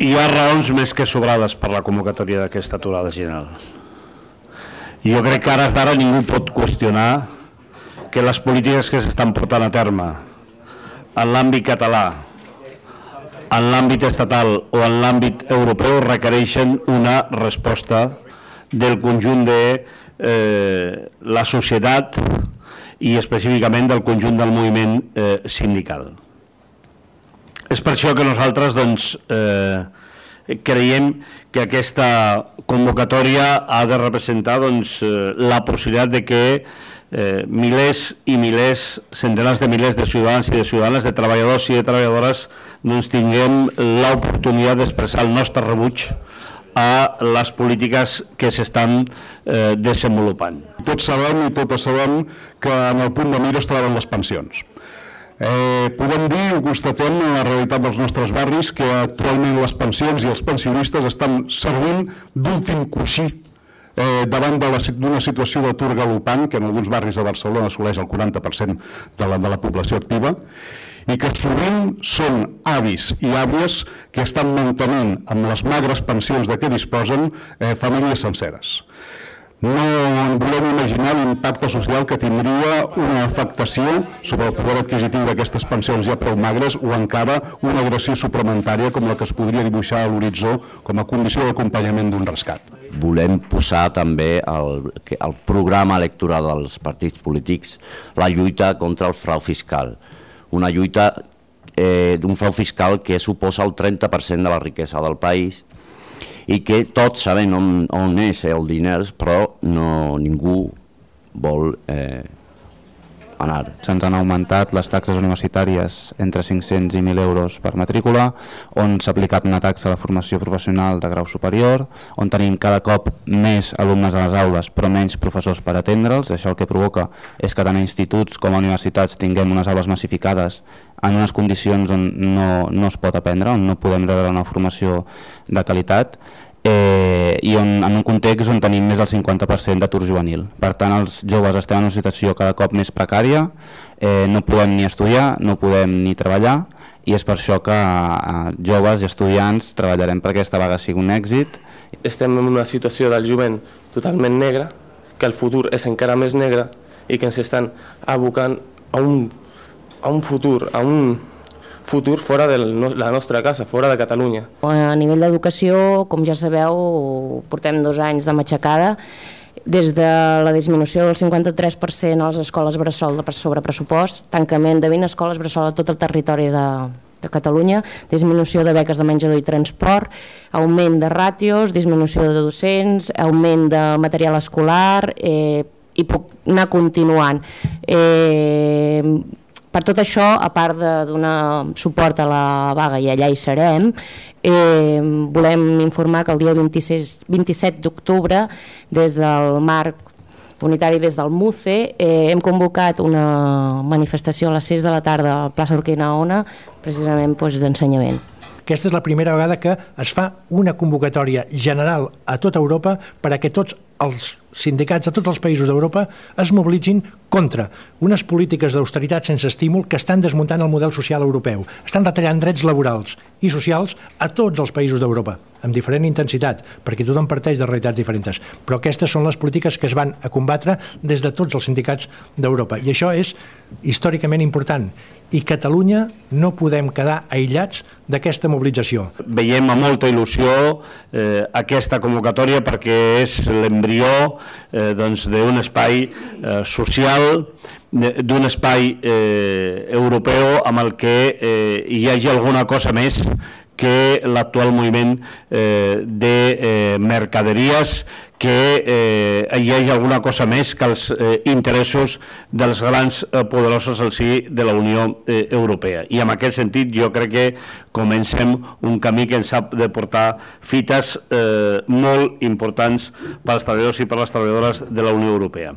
Hi ha raons més que sobrades per la convocatòria d'aquesta aturada general. Jo crec que ara d'ara ningú pot qüestionar que les polítiques que s'estan portant a terme en l'àmbit català, en l'àmbit estatal o en l'àmbit europeu requereixen una resposta del conjunt de la societat i específicament del conjunt del moviment sindical. És per això que nosaltres creiem que aquesta convocatòria ha de representar la possibilitat de que milers i milers, centenars de milers de ciutadans i de ciutadanes, de treballadors i de treballadores, tinguem l'oportunitat d'expressar el nostre rebuig a les polítiques que s'estan desenvolupant. Tots sabem i totes sabem que en el punt de mira es troben les pensions. Podem dir, ho constatem en la realitat dels nostres barris, que actualment les pensions i els pensionistes estan servint d'últim coixí davant d'una situació d'atur galopant que en alguns barris de Barcelona assoleix el 40% de la població activa i que sovint són avis i àvies que estan mantenint amb les magres pensions de què disposen famílies senceres. No volem imaginar l'impacte social que tindria una afectació sobre el poder adquisitiu d'aquestes pensions ja prou magres o encara una agressió suplementària com la que es podria dibuixar a l'horitzó com a condició d'acompanyament d'un rescat. Volem posar també al programa electoral dels partits polítics la lluita contra el frau fiscal. Una lluita d'un frau fiscal que suposa el 30% de la riquesa del país i que tots sabem on és el diner, però ningú vol anar. Se'ns han augmentat les taxes universitàries entre 500 i 1.000 euros per matrícula, on s'ha aplicat una taxa a la formació professional de grau superior, on tenim cada cop més alumnes a les aules però menys professors per atendre'ls. Això el que provoca és que tant a instituts com a universitats tinguem unes aules massificades en unes condicions on no es pot aprendre, on no podem rebre una formació de qualitat i en un context on tenim més del 50% d'atur juvenil. Per tant, els joves estem en una situació cada cop més precària, no podem ni estudiar, no podem ni treballar i és per això que joves i estudiants treballarem perquè aquesta vaga sigui un èxit. Estem en una situació del jovent totalment negra, que el futur és encara més negre i que ens estan abocant a un futur fora de la nostra casa, fora de Catalunya. A nivell d'educació, com ja sabeu, portem 2 anys de matxacada, des de la disminució del 53% a les escoles bressol sobre pressupost, tancament de 20 escoles bressol a tot el territori de Catalunya, disminució de beques de menjador i transport, augment de ràtios, disminució de docents, augment de material escolar i puc anar continuant. Per tot això, a part de donar suport a la vaga i allà hi serem, volem informar que el dia 27 d'octubre, des del marc unitari, des del MUCE, hem convocat una manifestació a les 6 de la tarda a la plaça Urquinaona, precisament d'ensenyament. Aquesta és la primera vegada que es fa una convocatòria general a tota Europa per a que tots els sindicats de tots els països d'Europa es mobilitzin contra unes polítiques d'austeritat sense estímul que estan desmuntant el model social europeu. Estan retallant drets laborals i socials a tots els països d'Europa, amb diferent intensitat, perquè tothom parteix de realitats diferents. Però aquestes són les polítiques que es van a combatre des de tots els sindicats d'Europa. I això és històricament important. I Catalunya no podem quedar aïllats d'aquesta mobilització. Veiem amb molta il·lusió aquesta convocatòria perquè és l'embrió d'un espai social, d'un espai europeu amb el que hi hagi alguna cosa més que l'actual moviment de mercaderies, que hi hagi alguna cosa més que els interessos dels grans poderosos al si de la Unió Europea. I en aquest sentit jo crec que comencem un camí que ens ha de portar fites molt importants pels treballadors i per les treballadores de la Unió Europea.